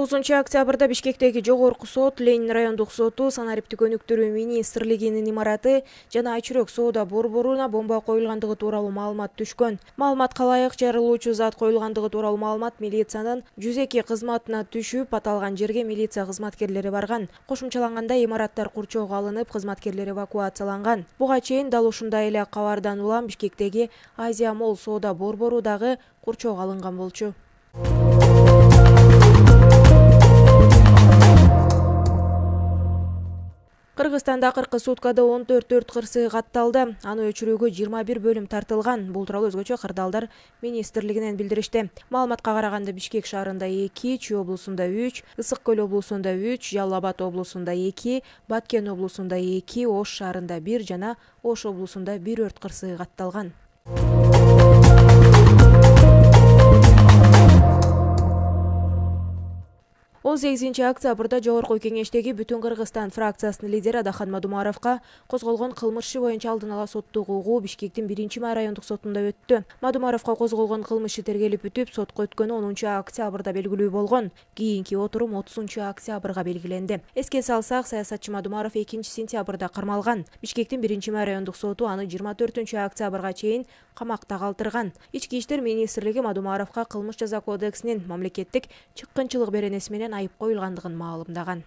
19-октябрда Бишкектеги жогорку сот, Ленин райондук соту, санариптик өнүктүрүү министрлигинин имараты жана Айчүрөк соода борборуна бомба коюлгандыгы тууралуу маалымат түшкөн. Маалыматка ылайык жарылуучу зат коюлгандыгы тууралуу маалымат милициянын 102 кызматына түшүп, аталган жерге милиция кызматкерлери барган. Кошумчаланганда имараттар курчоого алынып, кызматкерлер эвакуацияланган. Буга чейин дал ушундай эле кабардан улам Бишкектеги Азия Молл соода борбору дагы курчоого алынган болчу. Кыргызстанда акыркы суткада 14 өрт кырсыгы катталды. Аны өчүрүүгө 21 бөлүм тартылган. Бул тууралуу өзгөчө кырдаалдар министрлигинен билдиришти. Маалыматка караганда Бишкек шаарында 2, Чүй облусунда 3, Ысык Көл облусунда 3, Жалал Абад облусунда 2, Баткен облусунда 2, Ош шаарында 1 жана Ош облусунда 1 өрт кырсыгы катталган. 18-октябрда Жогорку кеңештеги Бүтүн Кыргызстан фракциясынын лидери Адахан Мадумаровго козголгон кылмыш иши боюнча алдын ала соттук угуу Бишкектин 1-май райондук сотунда өттү. Мадумаровго козголгон кылмыш иши тергелип бүтүп, сотко өткөнү 10-октябрда белгилүү болгон. Кийинки отурум 30-октябрга белгиленди. Эске салсак, саясатчы Мадумаров 2-сентябрда кармалган. Бишкектин 1-май райондук соту аны 24-октябрга чейин камакта калтырган. Ички иштер министрлиги Мадумаровго кылмыш жаза кодексинин мамлекеттик чыккынчылык беренеси менен айып коюлгандыгын маалымдаган.